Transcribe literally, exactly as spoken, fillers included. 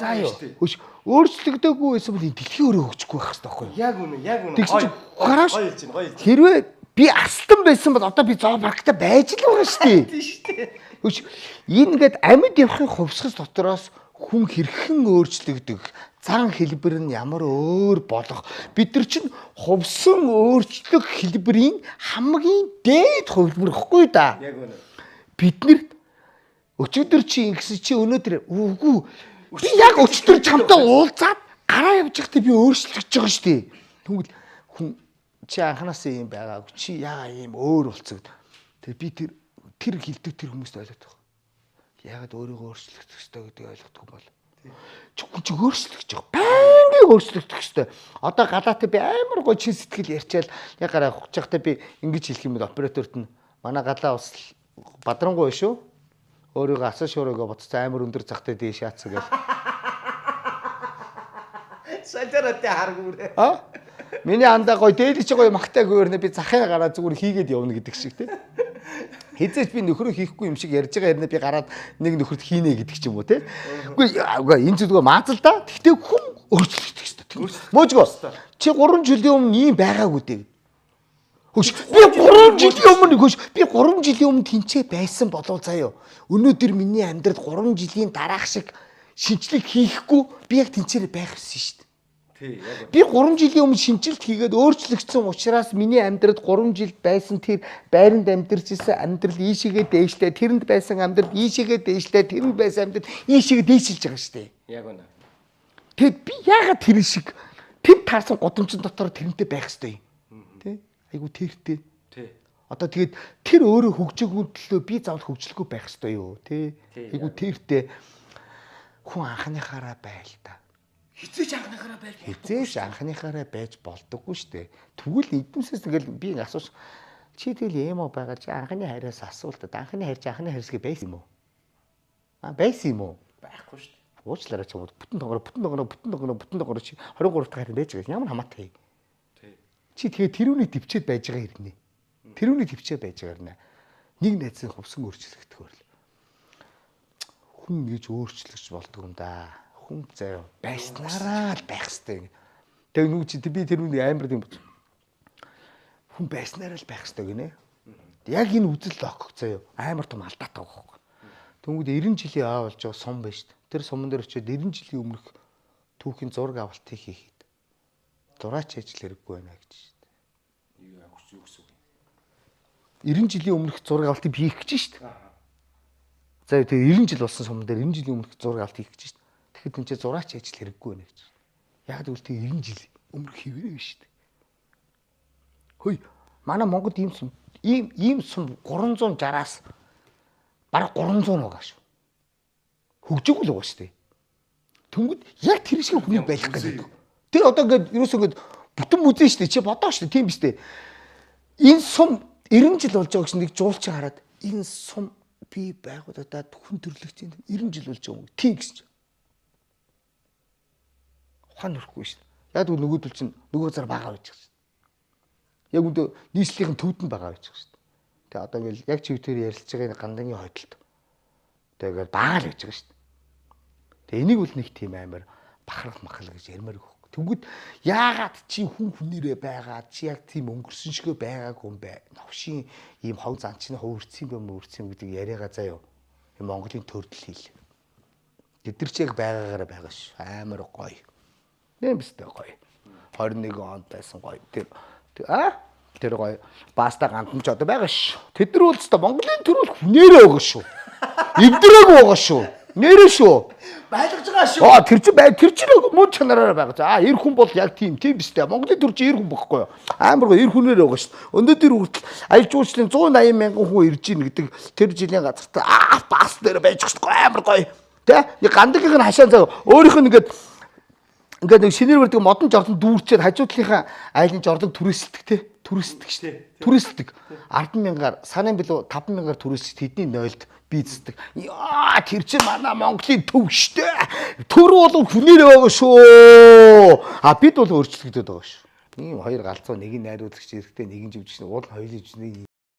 За юу. Хөөш өөрчлөгдөөгүй байсан бол энэ дэлхий өөрөө хөгжихгүй байх хэрэгтэй байхгүй юу? Яг үнэ, яг үнэ. Тэгсэн чинь гарааш гоё хэлж байна, гоё хэлж. хэрвээ би астан байсан бол одоо би зоопарктай байж л байгаа шүү дээ. Тийм шүү дээ. Хөөш энэ ингээд амьд явахын хувьсгал дотроос хүн хэрхэн өөрчлөгдөх, зан хэлбэр нь ямар өөр болох бид нар чинь хувьсан өөрчлөх хэлбэрийн хамгийн дээд хувилбар ихгүй да. Яг үнэ. Бид нэр өчигдөр чи ингэсэн чи өнөөдөр үгүй би яг өчигдөр чамтай уулзаад гараа явж байхдаа би өөрчлөгдөж байгаа шүү дээ. Тэгвэл хүн чи анханасаа юм байгаагүй чи яа ийм өөр болцог. Тэгээ би тэр тэр хилдэг тэр хүмүүст ойлгоод байгаа. Яагаад өөрийгөө өөрчлөх ёстой гэдгийг ойлгохгүй бол чи хүн чи өөрчлөх гэж байгаа. Байнгын өөрчлөгдөх ёстой. Одоо галаатай би амар гоо чин сэтгэл ярьчаал яг гараа хугаж байхдаа би ингэж хэлэх юм бол операторт нь манай галаа бас бадрангуй шүү. Өөрийгөө асан шуурыгаа боцсон амар өндөр захтай дээш яатсан гэл. Сажараатай харгуурэ. А? Миний андаа гоё дээлж гоё магтай гөөрнө би захын гараа зүгээр хийгээд явна гэдэг шиг тий. Хизээч би нөхрөө хийхгүй юм шиг ярьж байгаа хэрнээ би гараад нэг нөхөрт хийнэ гэдэг ч юм уу тий. Үгүй энэ зүгээр маазал да. Гэхдээ хүн өөрчлөгдөх ёстой. Мөөжгөө. Чи гурван жилийн өмнө ийм байгаагүй дээ. Хөөш би гурван жилийн өмнө хөөш би гурван жилийн өмнө тэнцээ байсан болов заяа. Өнөөдөр миний амьдрал гурван жилийн дараах шиг шинжлэх хийхгүй би яг тэнцээрээ байх гэсэн шүү дээ. Тий, яг. Би гурван жилийн өмнө шинжилт хийгээд өөрчлөгдсөн учраас миний амьдралд гурван жил байсан тэр байранд амьдарч исэн амьдрал ийшээгээ дээшлээ, тэрэнд байсан амьдрал ийшээгээ дээшлээ, тэрэнд байсан амьдрал ийшээгээ дээшилж байгаа шүү дээ. Яг үнэ. Тэгэд би яагаад тэр шиг тэр таарсан гудамжин дотор тэрнтэй байх ёстой юм. Тэ? Айгу тэртэй. Тий. Одоо тэгээд тэр өөрөө хөгжөөгөө төлөө би заавал хөгжлөхгүй байх ёстой юу, тэ? Айгу тэртэй хүн анхныхаараа байл та. Хизээч анхныхаараа байж Хизээш анхныхаараа байж болдоггүй шүү дээ. Тэгвэл эднээсээс тэгэл би асууж чи тэгэл юм уу байгаа чи анхны хайраас асуултад анхны хайр чи анхны хайрсгээ байсан юм уу? А байсан юм уу? байхгүй шүү дээ. Уучлаарай ч юм уу бүтэн тоогоор бүтэн тоогоор бүтэн тоогоор бүтэн тоогоор чи двадцать гурав дахь хайр байж байгаа ямар хамаатай. Тий. Чи тэгээ тэрүүний төвчээд байж байгаа хэрнээ. Тэрүүний төвчээд байж байгаа хэрнээ. Нэг найзын хувьсан өөрчлөгдөх хөрл. Хүн гэж өөрчлөгч болдгоо юм да. Хүн заяа байснараа л байх хэвээр. Тэг нүг чи би тэрүүний амар юм бол. Хүн байснараа л байх хэвээр гинэ. Яг энэ үзэл логик заяа амар том алдаатай байгаа. Тэнгүүд девяносто жилийн аа болж байгаа сум байна шүү дээ. Тэр суман дээр очиод девяносто жилийн өмнөх түүхийн зураг авалтыг хийхэд зураач ажил хэрэггүй байна гэж шүү дээ. Юу яг юу гэсэн үг юм. девяносто жилийн өмнөх зураг авалтыг хийх гэж шүү дээ. За тэгээ девяносто жил болсон суман дээр девяносто жилийн өмнөх зураг авалт хийх гэж шүү дээ. Тэгэхэд энэ чинь зураач ажил хэрэггүй байна гэж. Яг тэгвэл тэг девяносто жил өмнөх хэвээрээ шүү дээ. Хөөе манай Монголд ийм сум ийм ийм сум гурван зуун шестнадцать-аас бараг гурван зуун байгаа шүү. Хөгжөөгөл байгаа шүү дээ. Тэнгүүд яг тэр шиг хүний байх гэдэг. Тэр одоо ингээд ерөөсөө ингээд бүтэн бүзэн шүү дээ. Чи бодоо шүү дээ. Тийм биз дээ. Энэ сум девяносто жил болж байгаа гэсэн нэг жуулчин хараад энэ сум би байгуулагдаад хүн төрлөختийн девяносто жил болж байгаа юм. Тийм гэсэн чинь. Ухаан нөрөхгүй шүү дээ. Яг үл нөгөөдөл чинь нөгөө зар багаа байж байгаа шүү дээ. Яг үндэ нийслэлийн төвдөнд багаа байж байгаа шүү дээ. Тэгээ одоо ингээл яг чивтэр ярилцж байгаа гандангийн хойдолд. Тэгээд багаа л байж байгаа шүү дээ. Тэгээ энийг бол нэг тийм амар бахарх махал гэж ярмаар өгөх. Тэгвэл яагаад чи хүн хүнээрээ байгаа чи яг тийм өнгөрсөн шигэ байгаагүй юм бэ? Новшийн ийм хов занчны хувирцсан юм өөрцөн гэдэг яриагаа заяа. Энэ Монголын төрдөл хэл. Тэд нар ч яг байгаагаараа байгаа ш. Амар гоё. Нэм бистэ гоё. двадцать один онд байсан гоё. Тэр а тэр гоё. Баста гандан ч одоо байгаа ш. Тэд нар бол ч Монголын төрөл хүнээрээ байгаа шүү. Эвдрээгүй байгаа шүү. Нэрээ шүү. Байлгаж байгаа шүү. Аа тэр чинь бай тэр чинь мөн чанараараа байгаа. За эр хүн бол яг тийм тийм биз дээ. Монголын төр чинь эр хүн багхгүй юу? Амар гоё эр хүнээр байгаа шүү. Өнөөдөр хүртэл аялал жуулчлалын one eighty мянган хүн ирж ийн гэдэг тэр жилийн газарт аа бас дээр байж байгаа амар гоё. Тэ? Нэг гандагийн нь хашаан зав өөрийнх нь ингээд ингээд нэг шинээр барьдаг модон жордон дүүрчээд хажуудлынхаа айлын жордон түрээсэлдэг те. Түрээсэлдэг шүү. Түрээсэлдэг. ард мянгаар санаан билүү таван мянгаар түрээсэж тэдний нойлд бийцдэг. Яа тэр чинь манай Монголын төв штэ. Төр бол хүнээр байгаа шүү. А бид бол өөрчлөгдөд байгаа шүү. Ийм хоёр галзуу нэг нь найруулагч эрэхтэй нэг нь живжсэн уул хоёулж нэг